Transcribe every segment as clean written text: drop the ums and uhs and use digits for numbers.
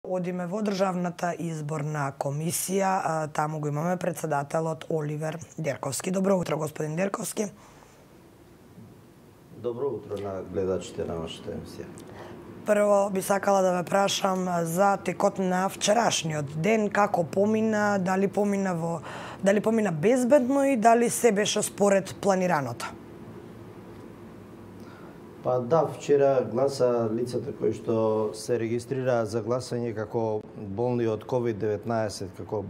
Одиме во Државната изборна комисија, таму го имаме председателот Оливер Дерковски. Добро утро, господин Дерковски. Добро утро на гледачите на вашата емисија. Прво би сакала да ве прашам за текот на вчерашниот ден, како помина, дали помина безбедно и дали се беше според планираното? Па да, вчера гласа лицата кои што се регистрираа за гласање како болни од COVID-19, како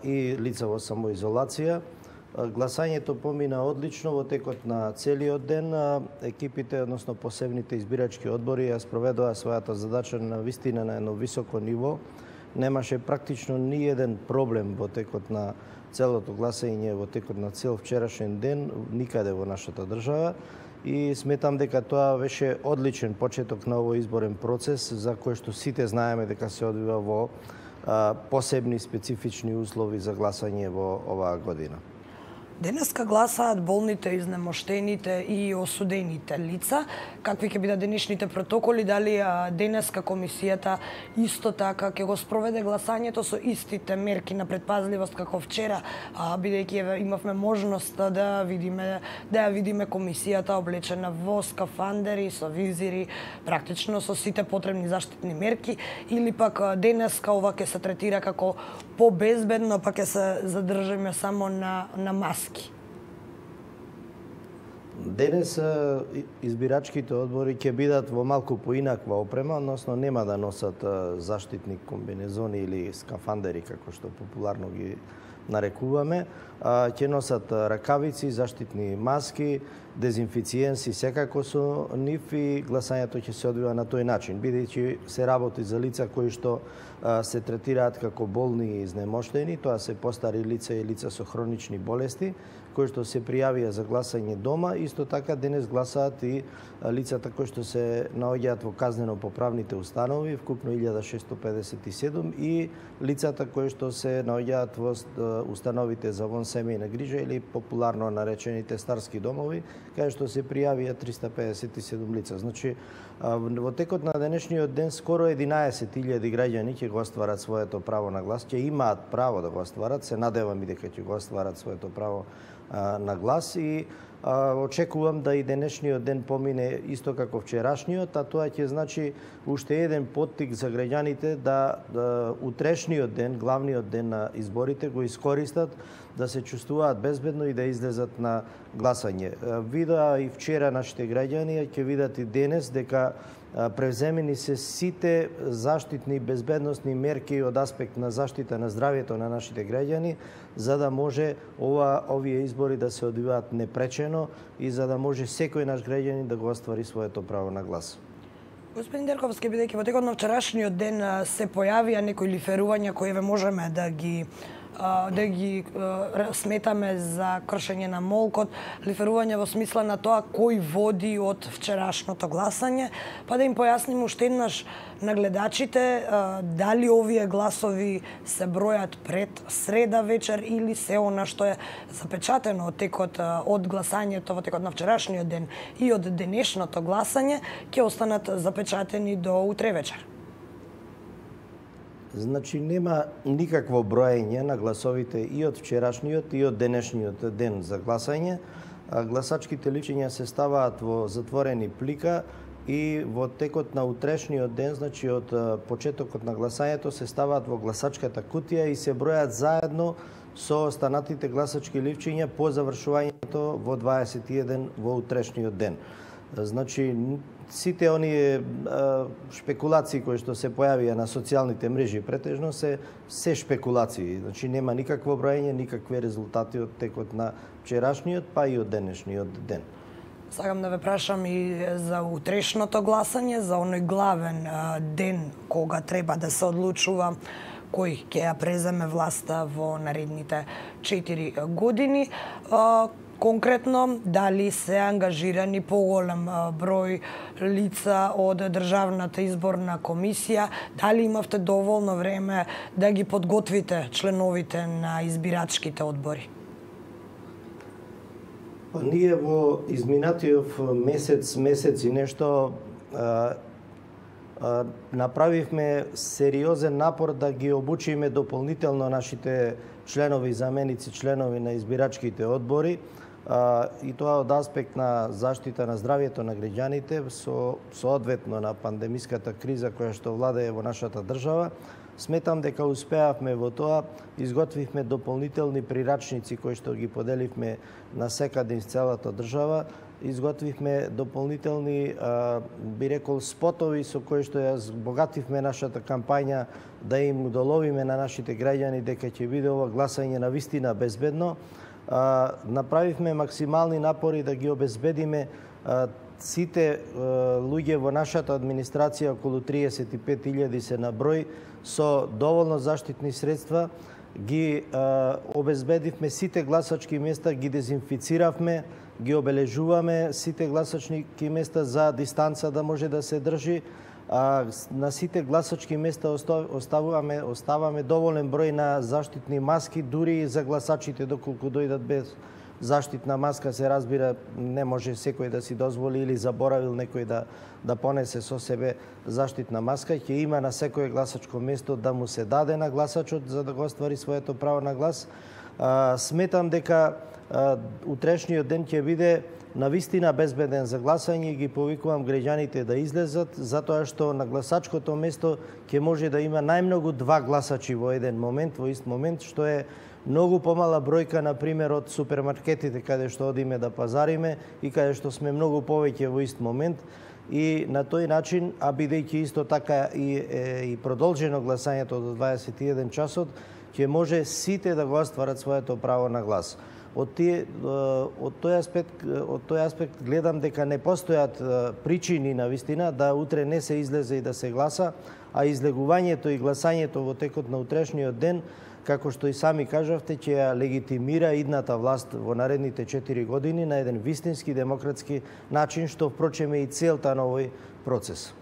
и лица во самоизолација. Гласањето помина одлично во текот на целиот ден. Екипите, односно посебните избирачки одбори, ја спроведоа својата задача на вистина на едно високо ниво. Немаше практично ни еден проблем во текот на целото гласање, во текот на цел вчерашен ден, никаде во нашата држава. И сметам дека тоа беше одличен почеток на овој изборен процес, за кој што сите знаеме дека се одвива во посебни специфични услови за гласање во оваа година. Денеска гласаат болните, изнемоштените и осудените лица. Какви ќе бидат денешните протоколи? Дали денеска комисијата исто така ќе го спроведе гласањето со истите мерки на предпазливост како вчера, бидејќи имавме можност да ја видиме комисијата облечена во скафандери, со визири, практично со сите потребни заштитни мерки, или пак денеска ова ќе се третира како побезбедно, па ќе се задржиме само на маски? Денес избирачките одбори ќе бидат во малку поинаква опрема, односно нема да носат заштитни комбинезони или скафандери, како што популарно ги нарекуваме. Ќе носат ракавици, заштитни маски, дезинфициенси секако со нив и гласањето ќе се одвива на тој начин, бидејќи се работи за лица кои што се третираат како болни и изнемоштени, тоа се постари лица и лица со хронични болести, кои што се пријавија за гласање дома. Исто така денес гласаат и лицата кои што се наоѓаат во казнено-поправните установи, вкупно 1657, и лицата кои што се наоѓаат во установите за вонсемејна грижа или популарно наречените старски домови, каде што се пријавија 357 лица. Значи, во текот на денешниот ден скоро 11.000 граѓани ќе го остварат своето право на глас, ќе имаат право да го остварат, се надевам и дека ќе го остварат своето право на глас, и очекувам да и денешниот ден помине исто како вчерашниот, а тоа ќе значи уште еден поттик за граѓаните да утрешниот ден, главниот ден на изборите, го искористат да се чувствуваат безбедно и да излезат на гласање. Видоа и вчера нашите граѓани, ќе видат и денес дека превземени се сите заштитни безбедносни мерки од аспект на заштита на здравјето на нашите граѓани, за да може овие избори да се одвиваат непречено и за да може секој наш граѓанин да го оствари своето право на глас. Господин Дерковски, бидејќи во текот на вчерашниот ден се појавија некои лиферувања кои можеме да ги сметаме за кршење на молкот, лиферување во смисла на тоа кој води од вчерашното гласање, па да им појасниме уште еднаш на гледачите дали овие гласови се бројат пред среда вечер или се она што е запечатено од текот од гласањето во текот на вчерашниот ден и од денешното гласање ќе останат запечатени до утре вечер. Значи, нема никакво броење на гласовите и од вчерашниот и од денешниот ден за гласање. Гласачките личиња се ставаат во затворени плика и во текот на утрешниот ден, значи од почетокот на гласањето, се ставаат во гласачката кутија и се бројат заедно со останатите гласачки личиња по завршувањето во 21 во утрешниот ден. Значи, сите оние шпекулации кои што се појавија на социјалните мрежи претежно се шпекулации. Значи, нема никакво броење, никакви резултати од текот на вчерашниот, па и од денешниот ден. Сакам да ве прашам и за утрешното гласање, за оној главен ден кога треба да се одлучува кој ќе ја преземе власта во наредните 4 години. Конкретно, дали се ангажирани поголем број лица од Државната изборна комисија, дали имавте доволно време да ги подготвите членовите на избирачките одбори? Ние во изминатиот месец и нешто направивме сериозен напор да ги обучиме дополнително нашите членови и заменици членови на избирачките одбори, и тоа од аспект на заштита на здравјето на граѓаните соодветно на пандемиската криза која што владее во нашата држава. Сметам дека успеавме во тоа, изготвивме дополнителни прирачници кои што ги поделивме на секаде из целата држава, изготвивме дополнителни, би рекол, спотови со кои што ја збогативме нашата кампања да им удоловиме на нашите граѓани дека ќе биде ова гласање на вистина безбедно. Направивме максимални напори да ги обезбедиме сите луѓе во нашата администрација, околу 35.000 се на број, со доволно заштитни средства, ги обезбедивме сите гласачки места, ги дезинфициравме, ги обележуваме сите гласачки места за дистанца да може да се држи. На сите гласачки места оставаме доволен број на заштитни маски, дури и за гласачите доколку дојдат без заштитна маска, се разбира, не може секој да си дозволи или заборавил некој да понесе со себе заштитна маска. Ќе има на секое гласачко место да му се даде на гласачот за да го оствари своето право на глас. Сметам дека утрешниот ден ќе биде навистина безбеден за гласање и ги повикувам граѓаните да излезат, затоа што на гласачкото место ќе може да има најмногу 2 гласачи во еден момент, во ист момент, што е многу помала бројка, например, од супермаркетите каде што одиме да пазариме и каде што сме многу повеќе во ист момент. И на тој начин, а бидејќи исто така и продолжено гласањето до 21 часот, ќе може сите да го остварат своето право на глас. Од тој аспект гледам дека не постојат причини на вистина да утре не се излезе и да се гласа, а излегувањето и гласањето во текот на утрешниот ден, како што и сами кажавте, ќе ја легитимира идната власт во наредните 4 години на еден вистински демократски начин, што впрочем е и целта на овој процес.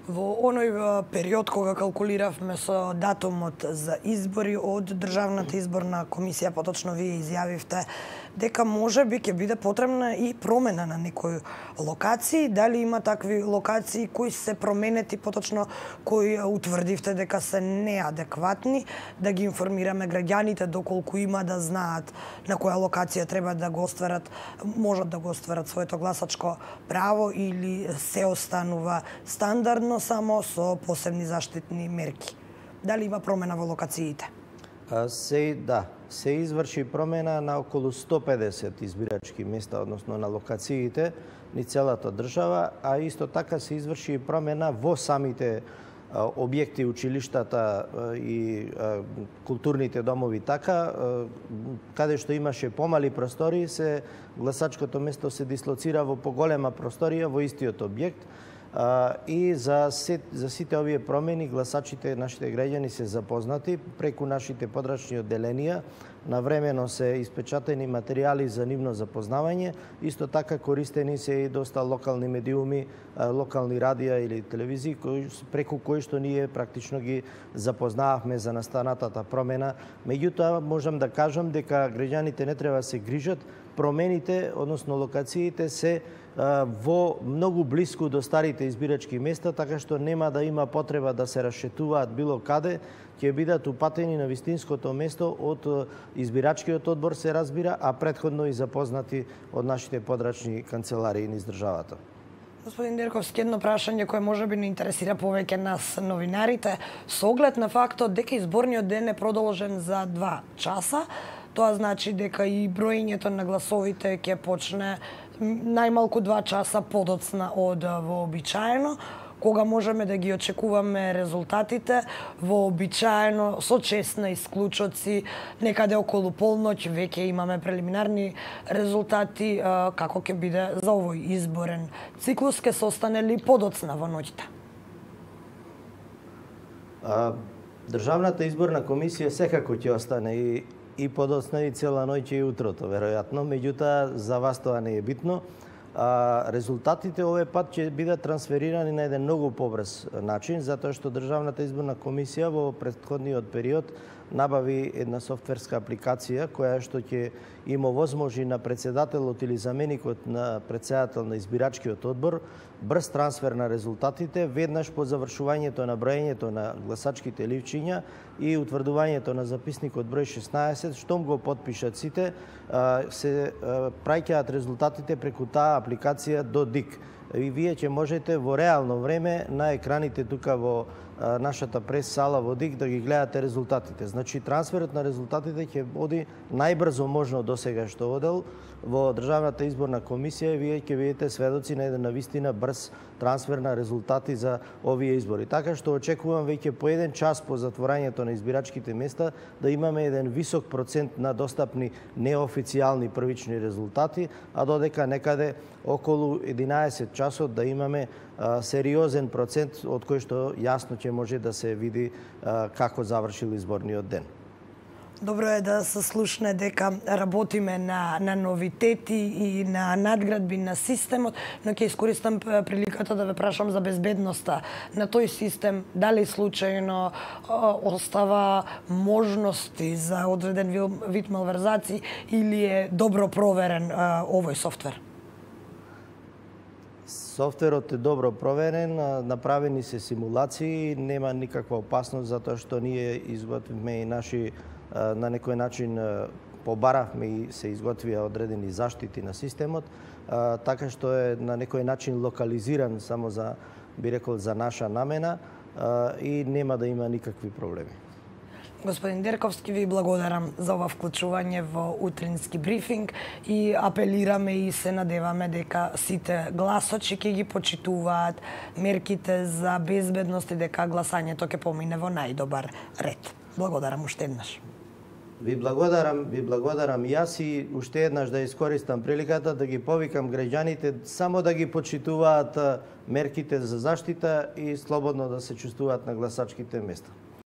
Во оној период кога калкулиравме со датумот за избори од Државната изборна комисија, поточно вие изјавивте дека можеби ќе биде потребна и промена на некои локации. Дали има такви локации кои се променети, поточно кои утврдивте дека се неадекватни, да ги информираме граѓаните доколку има да знаат на која локација треба да го остварат, можат да го остварат своето гласачко право или се останува стандардно само со посебни заштитни мерки? Дали има промена во локациите? Се изврши промена на околу 150 избирачки места, односно на локациите ни целата држава, а исто така се изврши промена во самите објекти, училиштата и културните домови така, каде што имаше помали простори, гласачкото место се дислоцира во поголема просторија во истиот објект. И за сите овие промени гласачите, нашите граѓани се запознати преку нашите подрачни одделенија. Навремено се испечатени материјали за нивно запознавање. Исто така користени се и доста локални медиуми, локални радија или телевизии, преку кои што ние практично ги запознававме за настанатата промена. Меѓутоа, можам да кажам дека граѓаните не треба да се грижат. Промените, односно локациите, се во многу блиску до старите избирачки места, така што нема да има потреба да се расшетуваат било каде, ќе бидат упатени на вистинското место од избирачкиот одбор, се разбира, а претходно и запознати од нашите подрачни канцеларии низ државата. Господин Дерковски, едно прашање кое можеби не интересира повеќе нас новинарите, со оглед на фактот дека изборниот ден е продолжен за 2 часа, тоа значи дека и броењето на гласовите ќе почне најмалку 2 часа подоцна од вообичаено. Кога можеме да ги очекуваме резултатите? Вообичаено со чест на исклучоци, некаде околу полноќ веќе имаме прелиминарни резултати. Како ќе биде за овој изборен циклус? Ќе се остане ли подоцна во ноќта? Државната изборна комисија секако ќе остане и подоцна и цела ноќ и утрото, веројатно. Меѓутоа, за вас тоа не е битно. резултатите овој пат ќе бидат трансферирани на еден многу побрз начин, затоа што Државната изборна комисија во претходниот период набави една софтверска апликација која што ќе им овозможи на председателот или заменикот на председател на избирачкиот одбор брз трансфер на резултатите веднаш по завршувањето на броењето на гласачките ливчиња и утврдувањето на записникот број 16, штом го потпишат сите, се праќаат резултатите преку таа апликација до ДИК. И вие ќе можете во реално време на екраните тука во нашата прес сала во ДИК да ги гледате резултатите. Значи, трансферот на резултатите ќе оди најбрзо можно до сега што одел во Државната изборна комисија и вие ќе бидете сведоци на еден навистина брз трансфер на резултати за овие избори. Така што очекувам веќе по еден час по затворањето на избирачките места да имаме еден висок процент на достапни неофицијални првични резултати, а додека некаде околу 11 часот да имаме сериозен процент од кој што јасно ќе може да се види како завршил изборниот ден. Добро е да се слушне дека работиме на новитети и на надградби на системот, но ќе искористам приликата да ве прашам за безбедноста на тој систем. Дали случајно остава можности за одреден вид малверзации или е добро проверен овој софтвер? Софтверот е добро проверен, направени се симулации, нема никаква опасност затоа што ние изготвивме и наши на некој начин побаравме и се изготвија одредени заштити на системот, така што е на некој начин локализиран само за, би рекол, за наша намена и нема да има никакви проблеми. Господин Дерковски, ви благодарам за ова вклучување во утрински брифинг и апелираме и се надеваме дека сите гласачи ќе ги почитуваат мерките за безбедност и дека гласањето ќе помине во најдобар ред. Благодарам уште еднаш. Ви благодарам јас и уште еднаш да искористам приликата да ги повикам граѓаните само да ги почитуваат мерките за заштита и слободно да се чувствуваат на гласачките места.